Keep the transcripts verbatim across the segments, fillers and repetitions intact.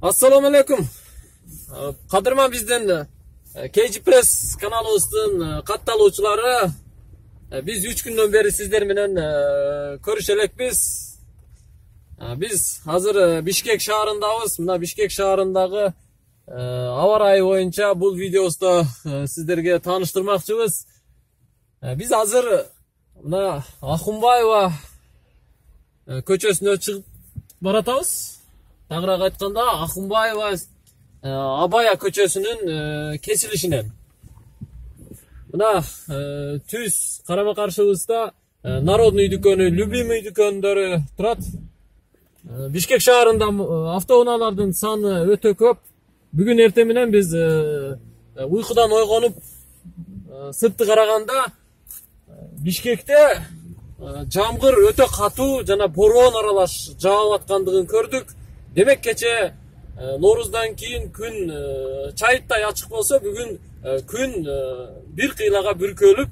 Assalamu alaikum. Кадырман бизден кей джи Press каналыбыздын катталуучулары. Биз үч күндөн бери сиздер менен көрүшө элекпиз. Биз азыр Бишкек шаарындабыз. Мына Бишкек шаарындагы аба ырайы боюнча бул видеобузда сиздерге тааныштырмакчыбыз. Биз азыр мына Акунбаева көчөсүнө чыгып баратабыз. Тагыраак айтканда Акунбаева Абая көчөсүнүн кесилишинен. Мына түз карама каршыбызда Народный дүкөнү, Любимый дүкөндөрү турат. Бишкек шаарында автоунаалардын саны өтө көп. Бүгүн эртең менен биз уйкудан ойгонуп сыртты караганда Бишкекте жамгыр өтө катуу жана бороон аралаш жаап аткандыгын көрдүк. Демек кече Нооруздан кийин күн чайыттай ачык болсо, бүгүн күн бир кыйлага бүркөлүп,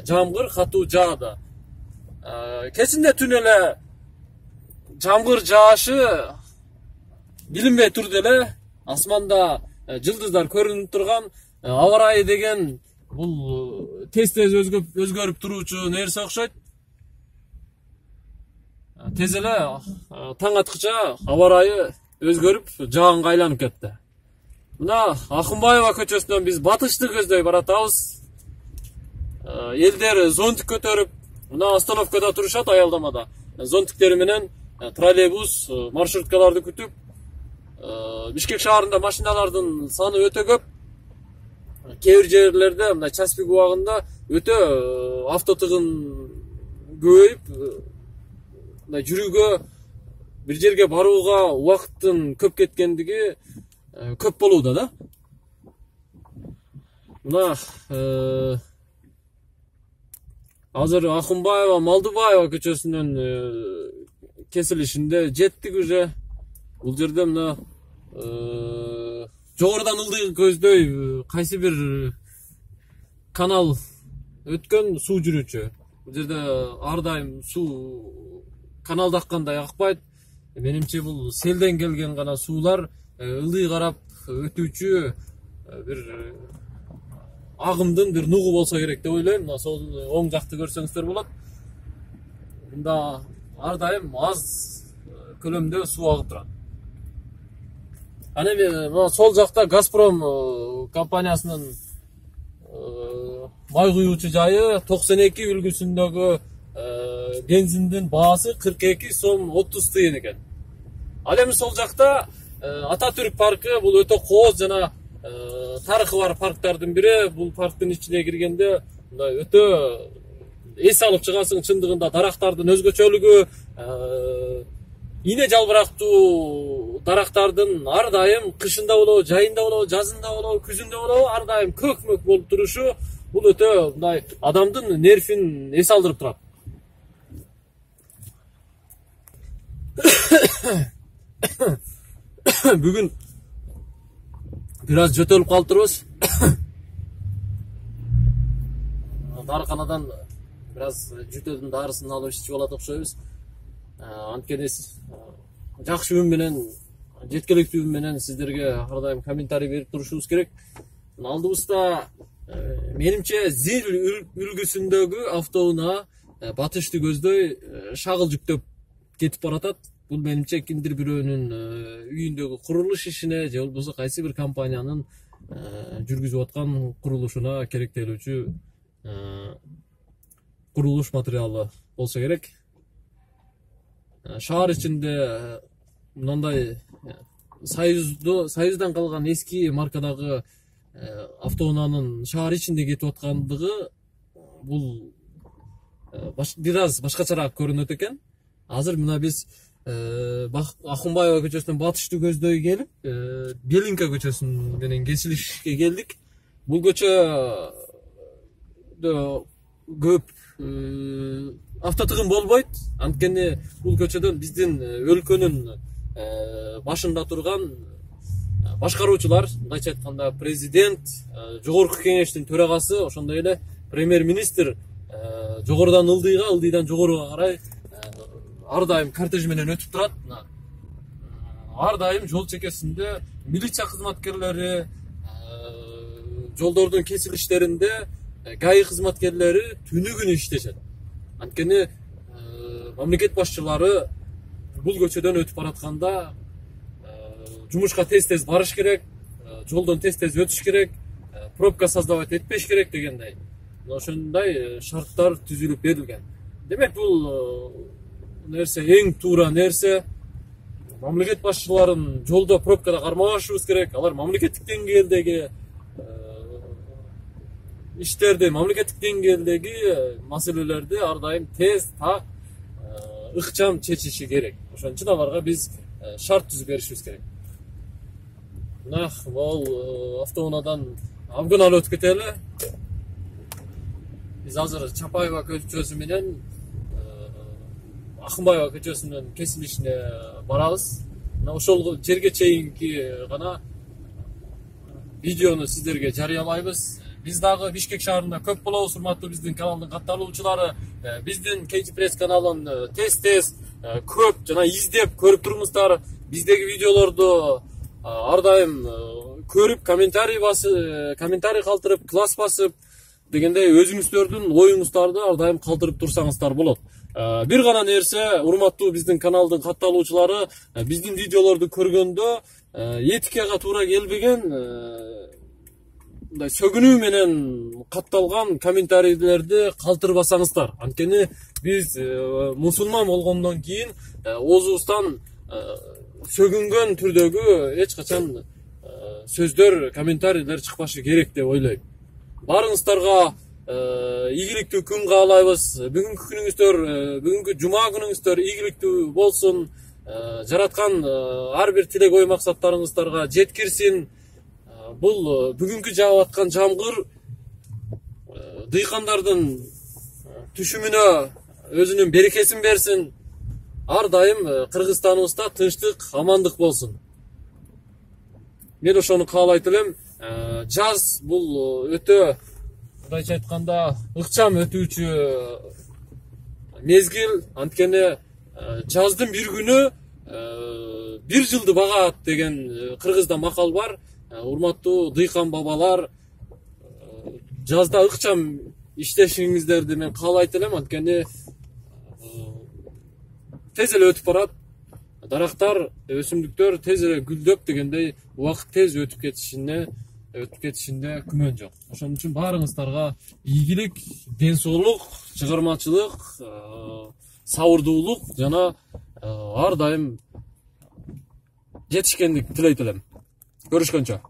жамгыр катуу жаады. Кечинде түн эле жамгыр жаашы билинбей турду эле. Асманда жылдыздар көрүнүп турган, аба ырайы деген бул тез-тез өзгөрүп туруучу нерсе окшойт. Тез эле таң аткыча аба ырайы өзгөрүп, жаагынга айланып кетти. Мына Акунбаева көчөсүнөн биз батышты көздөй баратабыз. Элдер зонтик көтөрүп, мына остановкада турушат аялдамада. Зонтиктери менен троллейбус, маршруткаларды күтүп, Бишкек шаарында машиналардын саны өтө көп. Кээ бир жерлерде, мына Часпик убагында өтө автотыгын көбөйүп, мына жүрүүгө, бир жерге барууга убакыттын көп кеткендиги көп болууда да. Мына азыр Акунбаева, Малдыбаева көчөсүнүн кесилишинде жеттик уже. Бул жерде мына жогорудан ылдый көздөй кайсы бир канал өткөн суу жүрүүчү. Бул жерде ар дайым суу каналда аккандай акпайт. Менимче бул селден келген гана суулар ылдый карап өтүүчү бир агымдын бир нугу болсо керек деп ойлойм. Мына сол оң жакты көрсөңүздөр болот. Мында ар дайым аз көлөмдө суу агып турат. Аны мына сол жакта Газпром компаниясынын май куюучу жайы токсон эки үлгүсүндөгү бензиндин баасы кырк эки сом отуз тыйын экен. Ал эми сол жакта Ататүрк паркы бул өтө кооз жана тарыхы бар парктардын бири. Бул парктын ичине киргенде мындай өтө эс алып чыгасың. Чындыгында дарактардын өзгөчөлүгү, ине жалбырактуу дарактардын ар дайым кышында болобу, жайында болобу, жазында болобу, күзүндө болобу ар дайым көк-мөк болуп турушу бул өтө мындай адамдын нервин эс алдырып турат. Бүгүн бир аз жөтөлүп калтырбыз. Дарыканадан бир аз жөтөлдүн дарысын алып ичип алат окшойбуз. Анткени жакшы үн менен, жеткиликтүү үн менен сиздерге ар дайым комментарий берип турушубуз керек. Алдыбызда менимче Зил үлгүсүндөгү автоунаа батышты көздөй шагыл жүктөп кетип баратат. Бул менимче кимдир бирөөнүн үйүндөгү курулуш ишине же болбосо кайсы бир компаниянын жүргүзүп аткан курулушуна керектелүүчү курулуш материалы болсо керек. Шаар ичинде мындай Союздан калган эски маркадагы автоунаанын шаар ичинде кетип аткандыгы бул бир аз башкачараак көрүнөт экен. Азыр мына биз Акунбаева көчөсүнөн батышты көздөй келип, Белинка көчөсүнүн менен кесилишке келдик. Бул көчөдө көп автотыгын болбойт. Анткени бул көчөдөн биздин өлкөнүн башында турган башкаруучулар, мындайча айтканда президент, жогорку кеңештин төрагасы, ошондой эле премьер-министр жогорудан ылдыйга, ылдыйдан жогоруга карай ар дайым кортеж менен өтүп турат. ар дайым жол чекесинде милиция кызматкерлери, жолдордун кесилиштеринде ГАИ кызматкерлери түнү күнү иштешет. Анткени мамлекет башчылары бул көчөдөн өтүп баратканда жумушка тез-тез барыш керек, жолдон тез-тез өтүш керек, пробка создавать этпеш керек дегендей. Ошондой шарттар түзүлүп берилген. Демек бул нерсе эң туура нерсе. Мамлекет башчыларын жолдо пробкада кармабашыбыз керек. Алар мамлекеттик деңгээлдеги иштерди, мамлекеттик деңгээлдеги маселелерди ар дайым тез, так, ыкчам чечиши керек. Ошон үчүн аларга биз шарт түзүп беришибиз керек. Мына бул автоунаадан абгын алып өтүп кетели. Биз азыр Чапаева көчөсү менен Акынбаева көчөсүнүн кесилишине барабыз. Мына ошол жерге чейинки гана видеону сиздерге жарыялайбыз. Биз дагы Бишкек шаарында көп болобуз, урматтуу биздин каналдын катталуучулары. Биздин Кейчи Пресс каналын тез-тез көп жана издеп көрүп туруңуздар. Биздеги видеолорду ар дайым көрүп, комментарий басып, комментарий калтырып, класс басып дегендей өзүңүздөрдүн оюңуздарды ар дайым калтырып турсаңыздар болот. Бир гана нерсе, урматтуу биздин каналдын катталуучулары, биздин видеолорду көргөндө этикага туура келбеген, мындай сөгүнүү менен катталган комментарийлерди калтырбасаңыздар. Анткени биз мусулман болгондон кийин оозубуздан сөгүнгөн түрдөгү эч качан сөздөр, комментарийлер чыкпашы керек деп ойлойм. Барыңыздарга ийгиликтүү күн каалайбыз. Бүгүнкү күнүңүздөр, бүгүнкү жума күнүңүздөр ийгиликтүү болсун. Жараткан ар бир тилек ой максаттарыңыздарга жеткирсин. Бул бүгүнкү жаап аткан жамгыр дыйкандардын түшүмүнө өзүнүн берекесин берсин. Ар дайым Кыргызстаныбызда тынчтык, амандык болсун. Мен ошону каалайт элем. Жаз бул өтө, мындайча айтканда, ыкчам өтүүчү мезгил. Анткени жаздын бир күнү бир жылды багат деген кыргызда макал бар. Урматтуу дыйкан бабалар, жазда ыкчам иштешиңиздерди мен каалайт элем. Анткени тез эле өтүп барат. Дарактар, өсүмдүктөр тез эле гүлдөп дегендей убакыт тез өтүп кетишине өтүп кетишинде күмөн жок. Ошон үчүн баарыңыздарга ийгилик, ден соолук, чыгармачылык, сабырдуулук жана ар дайым жетишкендик тилейт элем. Көрүшкөнчө.